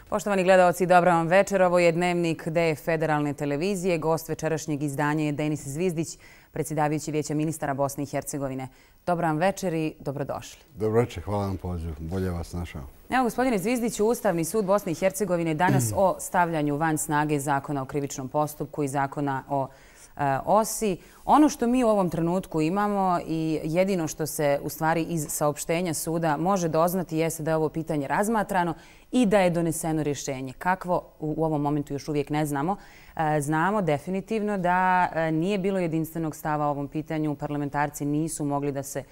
Poštovani gledaoci, dobra vam večer. Ovo je Dnevnik DF Federalne televizije. Gost večerašnjeg izdanja je Denis Zvizdić, predsjedavajući Vijeća ministara Bosne i Hercegovine. Dobra vam večer i dobrodošli. Dobro večer, hvala vam pozivu. Bolje vas našao. Evo, gospodine Zvizdiću, Ustavni sud Bosne i Hercegovine danas o stavljanju van snage Zakona o krivičnom postupku i Zakona o OSI. Ono što mi u ovom trenutku imamo i jedino što se u stvari iz saopštenja suda može doznati jeste da je ovo pitanje razmatrano i da je doneseno rješenje. Kakvo u ovom momentu još uvijek ne znamo. Znamo definitivno da nije bilo jedinstvenog stava o ovom pitanju. Parlamentarci nisu mogli da se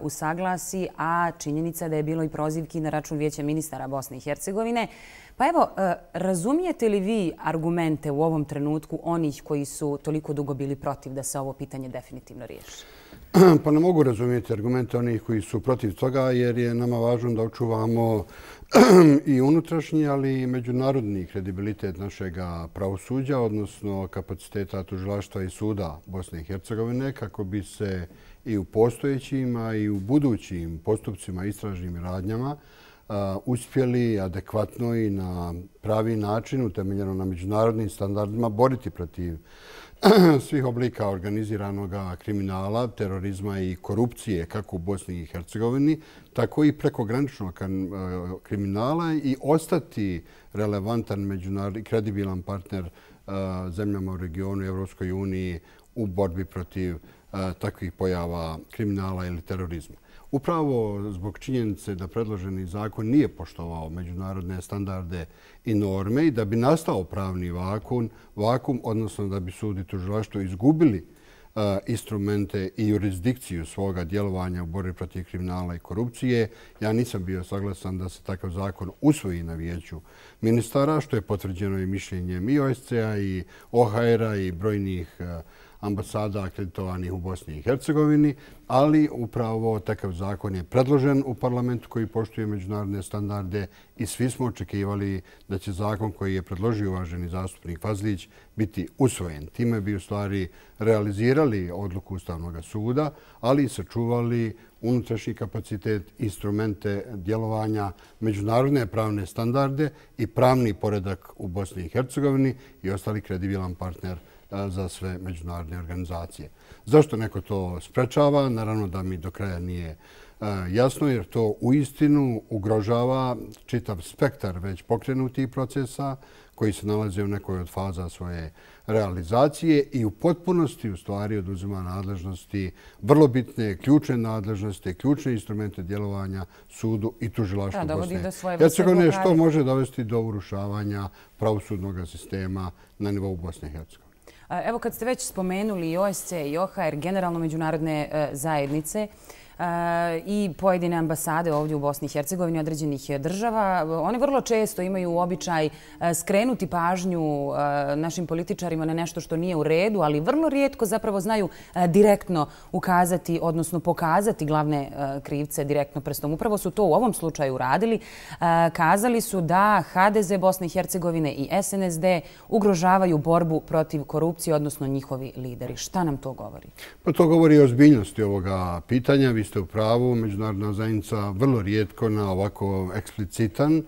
usaglasi, a činjenica da je bilo i prozivki na račun Vijeća ministara Bosne i Hercegovine. Pa evo, razumijete li vi argumente u ovom trenutku onih koji su toliko dugo bili protiv da se ovo pitanje definitivno riješi? Pa ne mogu razumjeti argumente onih koji su protiv toga jer je nama važno da očuvamo i unutrašnji, ali i međunarodni kredibilitet našeg pravosuđa, odnosno kapaciteta tužilaštva i suda Bosne i Hercegovine, kako bi se i u postojećim, a i u budućim postupcima, istražnim radnjama uspjeli adekvatno i na pravi način, utemeljeno na međunarodnim standardima, boriti protiv svih oblika organiziranog kriminala, terorizma i korupcije, kako u Bosni i Hercegovini, tako i prekograničnog kriminala i ostati relevantan međunarodni kredibilan partner zemljama u regionu i Evropskoj uniji u borbi protiv takvih pojava kriminala ili terorizma. Upravo zbog činjenice da predloženi zakon nije poštovao međunarodne standarde i norme i da bi nastao pravni vakum, odnosno da bi sud i tužilaštvo izgubili instrumente i jurisdikciju svoga djelovanja u borbi protiv kriminala i korupcije, ja nisam bio saglasan da se takav zakon usvoji na Vijeću ministara, što je potvrđeno i mišljenjem i OSCE-a i OHR-a i brojnih ambasada akreditovanih u Bosni i Hercegovini, ali upravo takav zakon je predložen u parlamentu koji poštuje međunarodne standarde i svi smo očekivali da će zakon koji je predložio uvaženi zastupnik Fazlić biti usvojen. Time bi u stvari realizirali odluku Ustavnog suda, ali i sačuvali unutrašnji kapacitet, instrumente djelovanja, međunarodne pravne standarde i pravni poredak u Bosni i Hercegovini i ostali kredibilan partner za sve međunarodne organizacije. Zašto neko to sprečava? Naravno da mi do kraja nije jasno, jer to uistinu ugrožava čitav spektar već pokrenutih procesa koji se nalaze u nekoj od faza svoje realizacije i u potpunosti u stvari oduzima nadležnosti, vrlo bitne, ključne nadležnosti, ključne instrumente djelovanja sudu i tužilaštvu Bosne i Hercegovine, što može dovesti do urušavanja pravosudnog sistema na nivou Bosne i Hercegovine. Evo, kad ste već spomenuli i OSCE i OHR, generalno međunarodne zajednice i pojedine ambasade ovdje u Bosni i Hercegovini određenih država, one vrlo često imaju običaj skrenuti pažnju našim političarima na nešto što nije u redu, ali vrlo rijetko zapravo znaju direktno ukazati, odnosno pokazati glavne krivce direktno prstom. Upravo su to u ovom slučaju uradili. Kazali su da HDZ Bosne i Hercegovine i SNSD ugrožavaju borbu protiv korupcije, odnosno njihovi lideri. Šta nam to govori? Pa to govori o ozbiljnosti ovoga pitanja. Vi ste u pravu, međunarodna zajednica vrlo rijetko na ovako eksplicitan,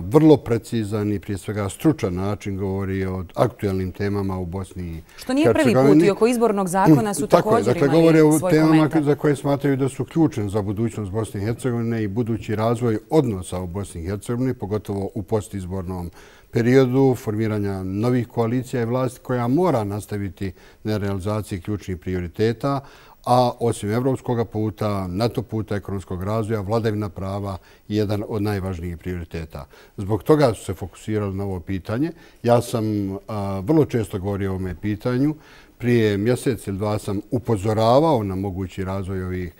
vrlo precizan i prije svega stručan način govori o aktuelnim temama u Bosni i Hercegovini. Što nije prvi put i oko izbornog zakona su također imali svoj komentar. Govore o temama za koje smatraju da su ključne za budućnost Bosne i Hercegovine i budući razvoj odnosa u Bosni i Hercegovini, pogotovo u postizbornom periodu formiranja novih koalicija i vlasti koja mora nastaviti na realizaciji ključnih prioriteta, a osim evropskog puta, NATO puta ekonomskog razvoja, vladavina prava je jedan od najvažnijih prioriteta. Zbog toga su se fokusirali na ovo pitanje. Ja sam vrlo često govorio o ovome pitanju. Prije mjesec ili dva sam upozoravao na mogući razvoj ovih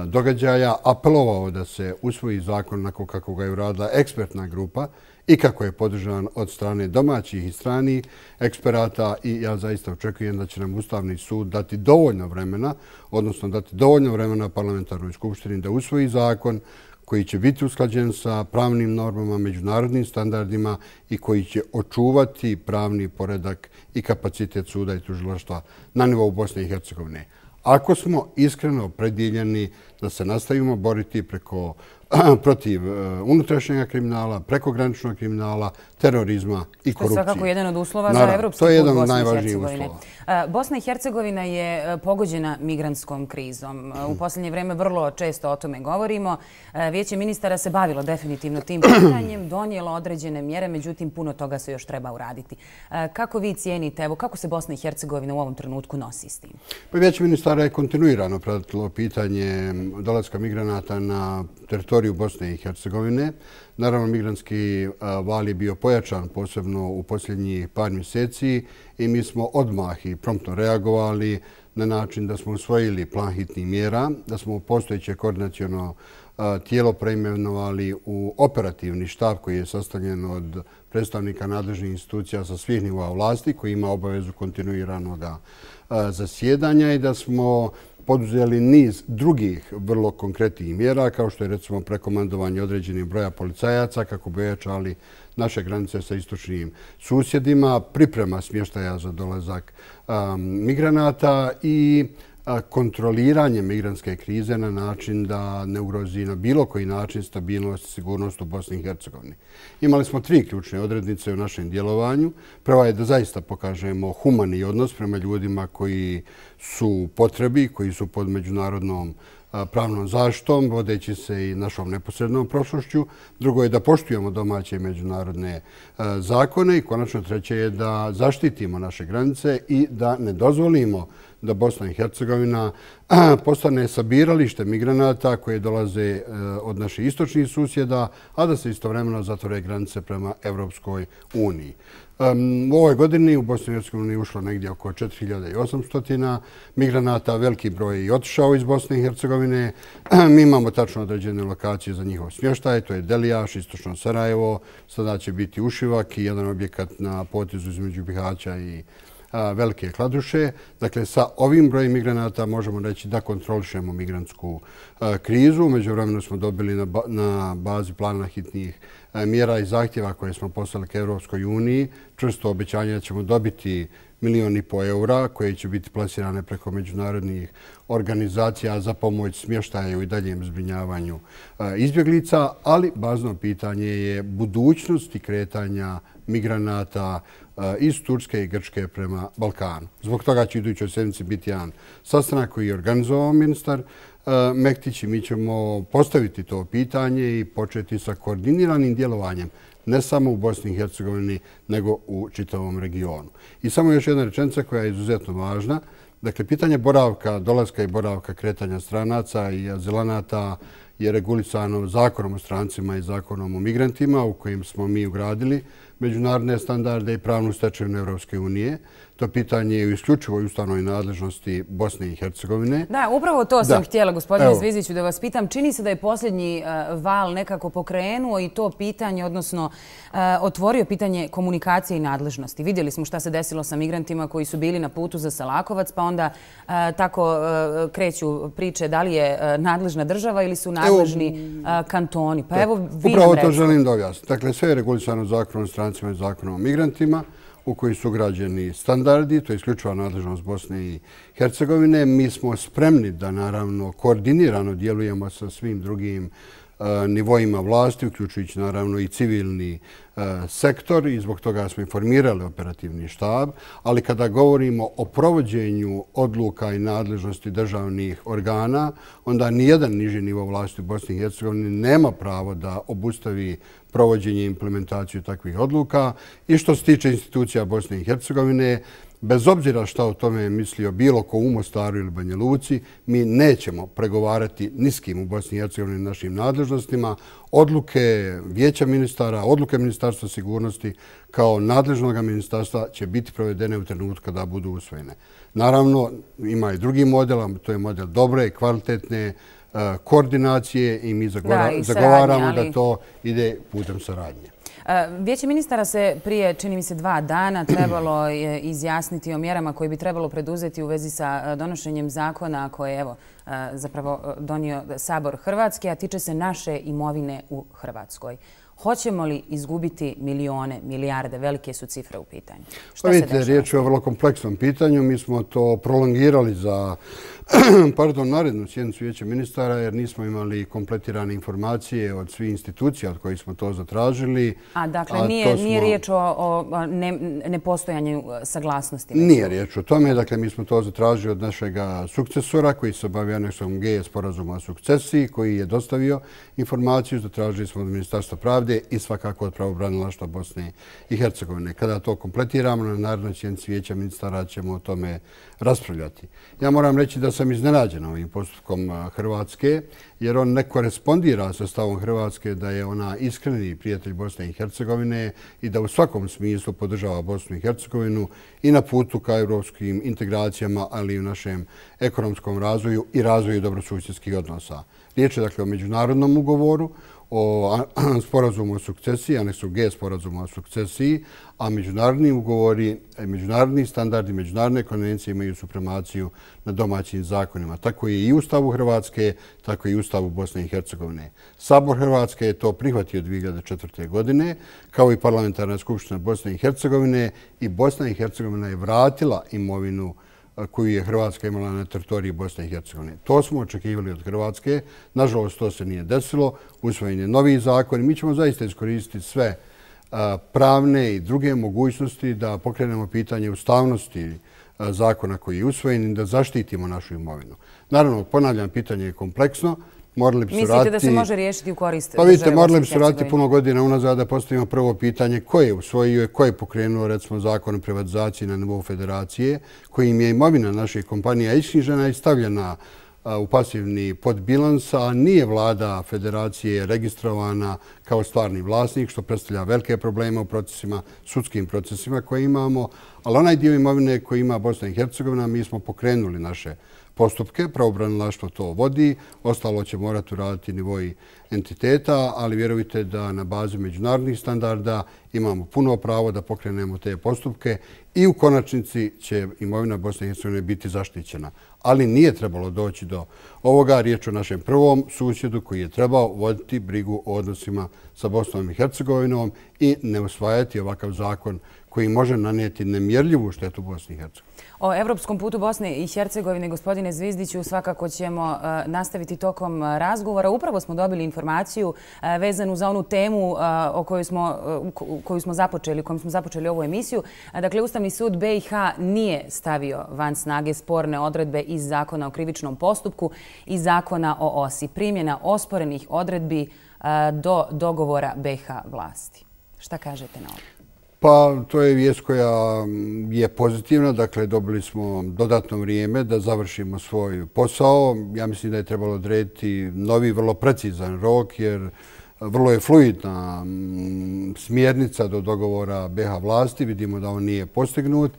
događaja, apelovao da se usvoji zakon onako kako ga je uradila ekspertna grupa i kako je podržan od strane domaćih i stranih eksperata i ja zaista očekujem da će nam Ustavni sud dati dovoljno vremena, odnosno dati dovoljno vremena parlamentarnoj skupštini da usvoji zakon koji će biti usklađen sa pravnim normama, međunarodnim standardima i koji će očuvati pravni poredak i kapacitet suda i tužilaštva na nivou Bosne i Hercegovine. Ako smo iskreno opredjeljeni da se nastavimo boriti protiv unutrašnjeg kriminala, prekograničnog kriminala, terorizma i korupcije. To je svakako jedan od uslova za evropski put Bosne i Hercegovine. Bosna i Hercegovina je pogođena migrantskom krizom. U posljednje vreme vrlo često o tome govorimo. Vijeće ministara se bavilo definitivno tim pitanjem, donijelo određene mjere, međutim puno toga se još treba uraditi. Kako vi cijenite, evo kako se Bosna i Hercegovina u ovom trenutku nosi s tim? Vijeće ministara je kontinuirano pratilo pitanje dolaska migranata na teritoriju Bosne i Hercegovine. Naravno, migrantski val je bio pojačan, posebno u posljednjih par mjeseci i mi smo odmah i promptno reagovali na način da smo usvojili plan hitnih mjera, da smo postojeće koordinaciono tijelo preimenovali u operativni štab koji je sastavljen od predstavnika nadležnih institucija sa svih nivoa vlasti koji ima obavezu kontinuiranog zasjedanja i da smo poduzeli niz drugih vrlo konkretnih mjera, kao što je recimo prekomandovanje određenih broja policajaca kako bi ojačali naše granice sa istočnim susjedima, priprema smještaja za dolazak migranata i kontroliranje migrantske krize na način da ne ugrozi na bilo koji način stabilnost i sigurnost u Bosni i Hercegovini. Imali smo 3 ključne odrednice u našem djelovanju. Prva je da zaista pokažemo humani odnos prema ljudima koji su u potrebi, koji su pod međunarodnom pravnom zaštitom, vodeći se i našom neposrednom prošlošću. Drugo je da poštujemo domaće i međunarodne zakone i konačno treće je da zaštitimo naše granice i da ne dozvolimo da Bosna i Hercegovina postane sabiralište migranata koje dolaze od naših istočnih susjeda, a da se istovremeno zatvore granice prema Evropskoj uniji. U ovoj godini u Bosni i Hercegovini ušlo negdje oko 4800 migranata, veliki broj je i otišao iz Bosne i Hercegovine. Mi imamo tačno određene lokacije za njihov smještaj, to je Delijaš, istočno Sarajevo, sada će biti Ušivak i jedan objekat na potezu između Bihaća i Velike Kladuše. Dakle, sa ovim brojem migranata možemo reći da kontrolišemo migrantsku krizu. Međuvremenu smo dobili na bazi plana hitnih mjera i zahtjeva koje smo poslali ka Evropskoj uniji čvrsto obećanje da ćemo dobiti 1,5 miliona eura koje će biti plasirane preko međunarodnih organizacija za pomoć smještaja i daljem zbrinjavanju izbjeglica, ali bazno pitanje je budućnosti kretanja migranata iz Turske i Grčke prema Balkanu. Zbog toga će idućoj sedmici biti jedan sastanak koji je organizovao ministar Mektić i mi ćemo postaviti to pitanje i početi sa koordiniranim djelovanjem ne samo u Bosni i Hercegovini, nego u čitavom regionu. I samo još jedna rečenica koja je izuzetno važna. Dakle, pitanje boravka, dolaska i boravka kretanja stranaca i azilanata je regulisano zakonom o strancima i zakonom o migrantima u kojim smo mi ugradili međunarodne standarde i pravnu stečevinu Evropske unije. To pitanje je u isključivoj ustavnoj nadležnosti Bosne i Hercegovine. Da, upravo to sam htjela, gospodine Zvizdiću, da vas pitam. Čini se da je posljednji val nekako pokrenuo i to pitanje, odnosno otvorio pitanje komunikacije i nadležnosti. Vidjeli smo šta se desilo sa migrantima koji su bili na putu za Salakovac, pa onda tako kreću priče da li je nadležna država ili su nadležni kantoni. Pa evo vi nam recite. Upravo to želim da objasnim. Dakle, sve je regulisano zakonom o strancima i zakonom o migrantima u koji su ugrađeni standardi, to je isključiva nadležnost Bosne i Hercegovine. Mi smo spremni da naravno koordinirano djelujemo sa svim drugim nivoima vlasti, uključujući naravno i civilni sektor i zbog toga smo informirali operativni štab, ali kada govorimo o provođenju odluka i nadležnosti državnih organa, onda nijedan niži nivo vlasti u Bosni i Hercegovini nema pravo da obustavi provođenje i implementaciju takvih odluka. I što se tiče institucija Bosne i Hercegovine, bez obzira šta o tome je mislio bilo ko u Mostaru ili Banja Luci, mi nećemo pregovarati ni s kim u Bosni i Hercegovini našim nadležnostima. Odluke vijeća ministara, odluke Ministarstva sigurnosti kao nadležnog ministarstva će biti provedene u trenutku kada budu usvojene. Naravno, ima i drugi model, a to je model dobre, kvalitetne koordinacije i mi zagovaramo da to ide putem saradnje. Vijeće ministara se prije, čini mi se, 2 dana trebalo izjasniti o mjerama koje bi trebalo preduzeti u vezi sa donošenjem zakona koje, evo, zapravo donio Sabor Hrvatske, a tiče se naše imovine u Hrvatskoj. Hoćemo li izgubiti milijone, milijarde, velike su cifre u pitanju? Pa vidite, riječ je o vrlo kompleksnom pitanju. Mi smo to prolongirali za narednu sjednicu Vijeća ministara jer nismo imali kompletirane informacije od svih institucija od kojih smo to zatražili. Dakle, nije riječ o nepostojanju saglasnosti? Nije riječ o tome. Dakle, mi smo to zatražili od našeg sukcesora koji se bavio aneksom G sporazuma o sukcesiji, koji je dostavio informaciju. Zatražili smo od Ministarstva pravde i svakako od pravobranilaštva Bosne i Hercegovine. Kada to kompletiramo, na narednoj sjednici Vijeća ministara ćemo o tome raspravljati. Ja moram reći da sam iznenađen ovim postupkom Hrvatske, jer on ne korespondira sa stavom Hrvatske da je ona iskreni prijatelj Bosne i Hercegovine i da u svakom smislu podržava Bosnu i Hercegovinu i na putu ka europskim integracijama, ali i u našem ekonomskom razvoju i razvoju dobrosusjedskih odnosa. Riječ je dakle o međunarodnom ugovoru, o sporazumu o sukcesiji, aneksu G sporazuma o sukcesiji, a međunarodni ugovori, međunarodni standardi, međunarodne konvencije imaju supremaciju na domaćim zakonima. Tako je i u Ustavu Hrvatske, tako i u Ustavu Bosne i Hercegovine. Sabor Hrvatske je to prihvatio 2004. godine, kao i Parlamentarna skupština Bosne i Hercegovine, i Bosna i Hercegovina je vratila imovinu koju je Hrvatska imala na teritoriji Bosne i Hercegovine. To smo očekivali od Hrvatske. Nažalost, to se nije desilo. Usvojen je novi zakon. Mi ćemo zaista iskoristiti sve pravne i druge mogućnosti da pokrenemo pitanje ustavnosti zakona koji je usvojen i da zaštitimo našu imovinu. Naravno, ponavljam, pitanje je kompleksno. Mislite da se može riješiti u korist države Bosne i Hercegovine? Pa vidite, morali bi se Hercegovine? raditi puno godina unazad da postavimo prvo pitanje ko je usvojio i ko je pokrenuo, recimo, zakon o privatizaciji na nivou federacije, kojim je imovina naših kompanija isknjižena i stavljena u pasivni podbilans, a nije vlada federacije registrovana kao stvarni vlasnik, što predstavlja velike probleme u procesima, sudskim procesima koje imamo. Ali onaj dio imovine koji ima Bosna i Hercegovina, mi smo pokrenuli naše postupke, pravobranilaštvo to vodi, ostalo će morati uraditi nivoji entiteta, ali vjerujte da na bazi međunarodnih standarda imamo puno pravo da pokrenemo te postupke i u konačnici će imovina Bosne i Hercegovine biti zaštićena. Ali nije trebalo doći do ovoga. Riječ o našem prvom susjedu koji je trebao voditi brigu o odnosima sa Bosnom i Hercegovinom i ne usvajati ovakav zakon koji može nanijeti nemjerljivu štetu Bosni i Hercegovini. O evropskom putu Bosne i Hercegovine, gospodine Zvizdiću, svakako ćemo nastaviti tokom razgovora. Upravo smo dobili informaciju vezanu za onu temu koju smo započeli ovu emisiju. Dakle, Ustavni sud BiH nije stavio van snage sporne odredbe iz Zakona o krivičnom postupku i Zakona o OSI. Primjena osporenih odredbi do dogovora BiH vlasti. Šta kažete na ovo? Pa to je vijest koja je pozitivna. Dakle, dobili smo dodatno vrijeme da završimo svoj posao. Ja mislim da je trebalo odrediti novi, vrlo precizan rok, jer vrlo je fluidna smjernica do dogovora BiH vlasti. Vidimo da on nije postignut,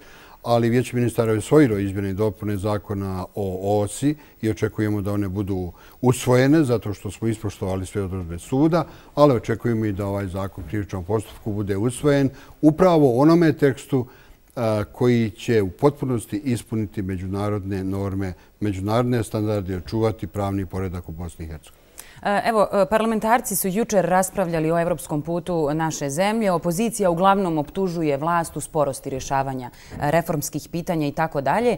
ali Vijeće ministara je usvojilo izmjene i dopune zakona o OSI i očekujemo da one budu usvojene zato što smo ispoštovali sve odredbe suda, ali očekujemo i da ovaj zakon o krivičnom postupku bude usvojen upravo u onome tekstu koji će u potpunosti ispuniti međunarodne norme, međunarodne standarde i očuvati pravni poredak u Bosni i Hercegovini. Evo, parlamentarci su jučer raspravljali o evropskom putu naše zemlje. Opozicija uglavnom optužuje vlast u sporosti rješavanja reformskih pitanja i tako dalje.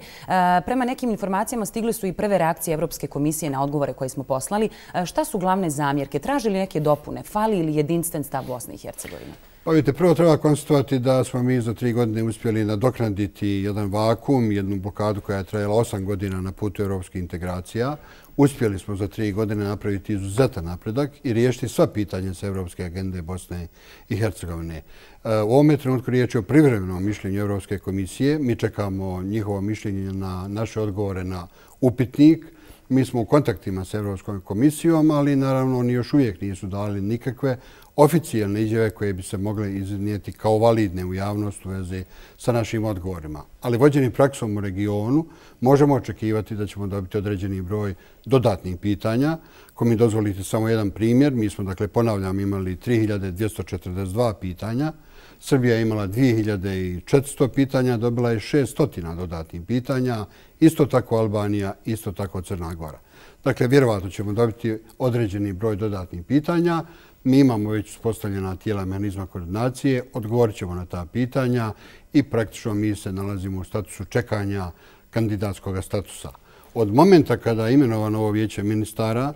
Prema nekim informacijama stigli su i prve reakcije Evropske komisije na odgovore koje smo poslali. Šta su glavne zamjerke? Traži li neke dopune? Fali li jedinstven stav Bosne i Hercegovine? Pa vidite, prvo treba konstatovati da smo mi za 3 godine uspjeli nadoknaditi jedan vakuum, jednu blokadu koja je trajala 8 godina na putu evropskih integracija. Uspjeli smo za 3 godine napraviti izuzetan napredak i riješiti sva pitanja sa evropske agende Bosne i Hercegovine. U ovome trenutku riječ je o privremenom mišljenju Evropske komisije. Mi čekamo njihovo mišljenje na naše odgovore na upitnik. Mi smo u kontaktima s Evropskom komisijom, ali naravno oni još uvijek nisu dali nikakve oficijalne izjave koje bi se mogle iznijeti kao validne u javnost u vezi sa našim odgovorima. Ali vođeni praksom u regionu možemo očekivati da ćemo dobiti određeni broj dodatnih pitanja. Ako mi dozvolite samo jedan primjer, mi smo, dakle, ponavljam, imali 3242 pitanja. Srbija je imala 2400 pitanja, dobila je 600 dodatnih pitanja. Isto tako Albanija, isto tako Crna Gora. Dakle, vjerovatno ćemo dobiti određeni broj dodatnih pitanja. Mi imamo već uspostavljena tijela mehanizma koordinacije, odgovorit ćemo na ta pitanja i praktično mi se nalazimo u statusu čekanja kandidatskog statusa. Od momenta kada je imenovano ovo vijeće ministara,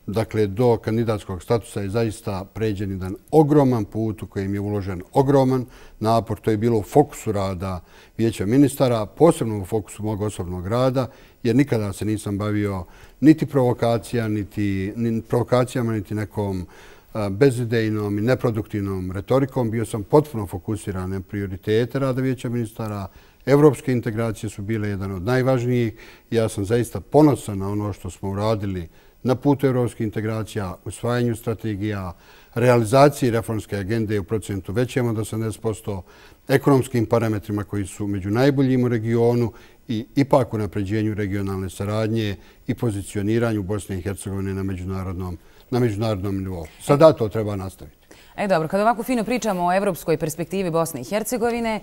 dakle, do kandidatskog statusa je zaista pređen jedan ogroman put u kojem je uložen ogroman napor. To je bilo u fokusu rada vijeća ministara, posebno u fokusu mog osobnog rada, jer nikada se nisam bavio niti provokacijama, niti nekom bezidejnom i neproduktivnom retorikom. Bio sam potpuno fokusiran na prioritete rada vijeća ministara. Evropske integracije su bile jedan od najvažnijih. Ja sam zaista ponosan na ono što smo uradili na putu evropskih integracija, usvajanju strategija, realizaciji reformske agende u procentu većem od 80%, ekonomskim parametrima koji su među najboljim u regionu i ipak u napređenju regionalne saradnje i pozicioniranju Bosne i Hercegovine na međunarodnom nivou. Sada to treba nastaviti. Dobro, kada ovako fino pričamo o evropskoj perspektivi Bosne i Hercegovine,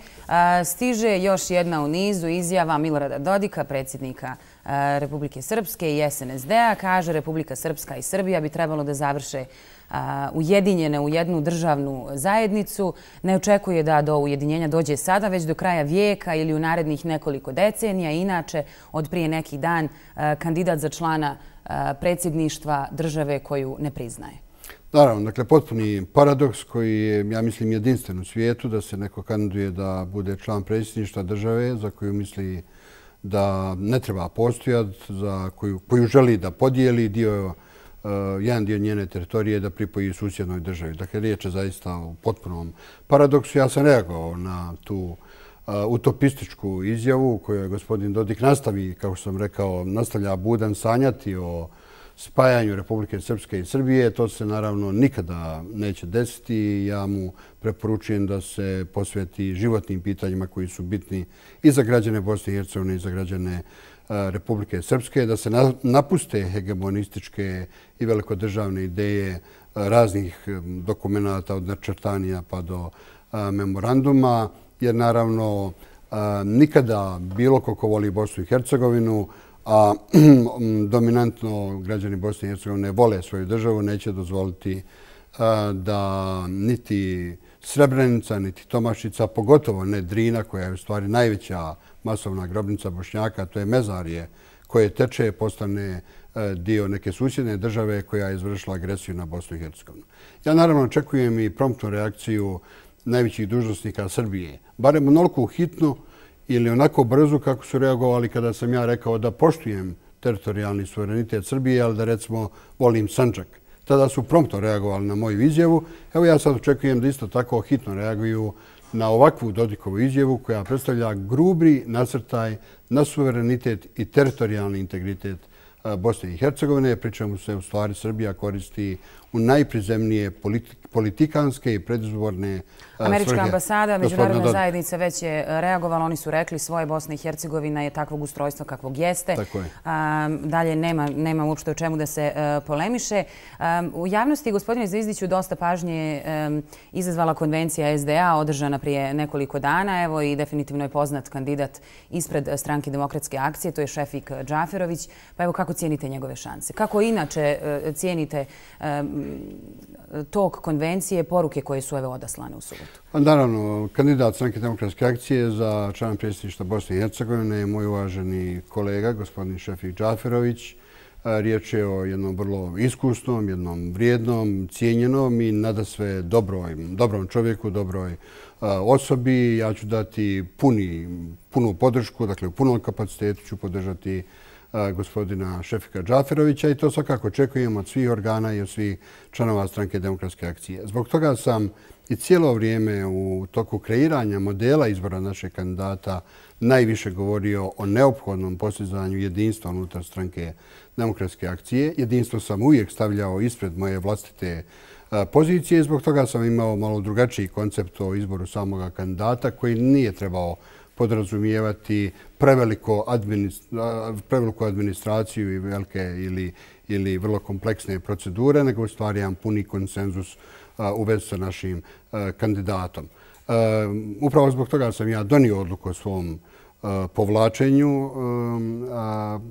stiže još jedna u nizu izjava Milorada Dodika, predsjednika Republike Srpske i SNSD-a. Kaže, Republika Srpska i Srbija bi trebalo da završe ujedinjene u jednu državnu zajednicu. Ne očekuje da do ujedinjenja dođe sada, već do kraja vijeka ili u narednih nekoliko decenija. Inače, od prije neki dan kandidat za člana predsjedništva države koju ne priznaje. Naravno, dakle, potpuni paradoks koji je, ja mislim, jedinstven u svijetu, da se neko kandiduje da bude član predsjedništva države za koju misli da ne treba postojati, za koju želi da podijeli jedan dio njene teritorije da pripoji susjednoj državi. Dakle, riječ je zaista o potpunom paradoksu. Ja sam reagovao na tu utopističku izjavu u kojoj gospodin Dodik kao što sam rekao, nastavlja budan sanjati o spajanju Republike Srpske i Srbije. To se naravno nikada neće desiti. Ja mu preporučujem da se posveti životnim pitanjima koji su bitni i za građane Bosne i Hercegovine i za građane Republike Srpske, da se napuste hegemonističke i velikodržavne ideje raznih dokumenata od načrtanja pa do memoranduma, jer naravno nikada bilo ko voli Bosnu i Hercegovinu, a dominantno građani Bosne i Hercegovine vole svoju državu, neće dozvoliti da niti Srebrenica, niti Tomašica, pogotovo ne Drina, koja je u stvari najveća masovna grobnica Bošnjaka, to je Mezarje koje teče, postane dio neke susjedne države koja je izvršila agresiju na Bosnu i Hercegovinu. Ja naravno očekujem i promptnu reakciju najvećih dužnosnika Srbije, barem onoliko hitnu ili onako brzo kako su reagovali kada sam ja rekao da poštujem teritorijalni suverenitet Srbije, ali da recimo volim Sandžak. Tada su promptno reagovali na moju izjavu. Evo ja sad očekujem da isto tako hitno reaguju na ovakvu Dodikovu izjavu koja predstavlja grubi nasrtaj na suverenitet i teritorijalni integritet Bosne i Hercegovine, pri čemu se u stvari Srbija koristi u najprizemnije politikanske i predizborne svrhe. Američka ambasada, međunarodna zajednica već je reagovala. Oni su rekli svoje Bosna i Hercegovina je takvog ustrojstva kakvog jeste. Dalje nema uopšte o čemu da se polemiše. U javnosti, gospodine Zvizdiću, dosta pažnje izazvala konvencija SDA održana prije nekoliko dana. Evo i definitivno je poznat kandidat ispred Stranke demokratske akcije, to je Šefik Džaferović. Pa evo kako cijenite njegove šanse? Kako inače cijenite tok konvencije, poruke koje su odaslane u subotu? Naravno, kandidat Stranke demokratske akcije za člana predsjedništva Bosne i Hercegovine je moj uvaženi kolega, gospodin Šefik Džaferović. Riječ je o jednom vrlo iskusnom, jednom vrijednom, cijenjenom i nadasve dobrom čovjeku, dobroj osobi. Ja ću dati punu podršku, dakle u punom kapacitetu ću podržati gospodina Šefika Džaferovića i to svakako očekujem od svih organa i od svih članova Stranke demokratske akcije. Zbog toga sam i cijelo vrijeme u toku kreiranja modela izbora našeg kandidata najviše govorio o neophodnom postizanju jedinstva unutar Stranke demokratske akcije. Jedinstvo sam uvijek stavljao ispred moje vlastite pozicije i zbog toga sam imao malo drugačiji koncept o izboru samoga kandidata koji nije trebao podrazumijevati preveliku administraciju i velike ili vrlo kompleksne procedure, nego u stvari jedan puni konsenzus u vezi sa našim kandidatom. Upravo zbog toga sam ja donio odluku o svom povlačenju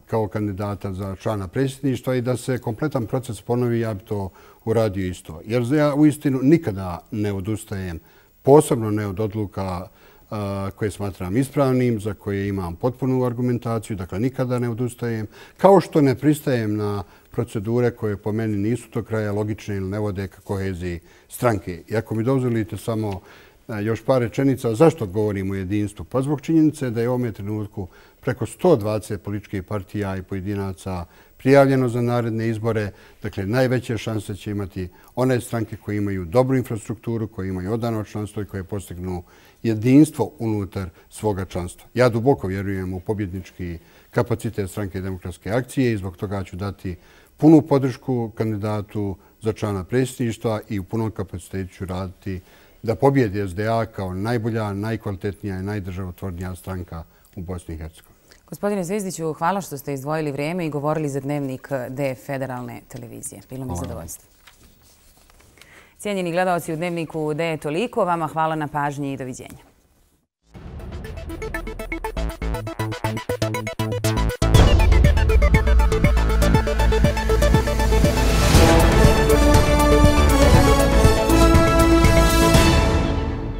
kao kandidata za člana predsjedništva i da se kompletan proces ponovi, ja bi to uradio isto. Jer ja uistinu nikada ne odustajem, posebno ne od odluka koje smatram ispravnim, za koje imam potpunu argumentaciju, dakle nikada ne odustajem, kao što ne pristajem na procedure koje po meni nisu do kraja logične ili ne vode ka koheziji stranke. I ako mi dozvolite samo još par rečenica, zašto govorim o jedinstvu? Pa zbog činjenice da je u ovom trenutku preko 120 političkih partija i pojedinaca prijavljeno za naredne izbore. Dakle, najveće šanse će imati one stranke koje imaju dobru infrastrukturu, koje imaju odano članstvo i koje postignu jedinstvo unutar svoga članstva. Ja duboko vjerujem u pobjednički kapacitet Stranke demokratske akcije i zbog toga ću dati punu podršku kandidatu za člana predsjedništva i u punom kapacitetu ću raditi da pobjedi SDA kao najbolja, najkvalitetnija i najdržavotvornija stranka u Bosni i Hercegovini. Gospodine Zvizdiću, hvala što ste izdvojili vrijeme i govorili za Dnevnik D federalne televizije. Bilo mi zadovoljstvo. Cijenjeni gledalci, u Dnevniku D je toliko. Vama hvala na pažnji i doviđenja.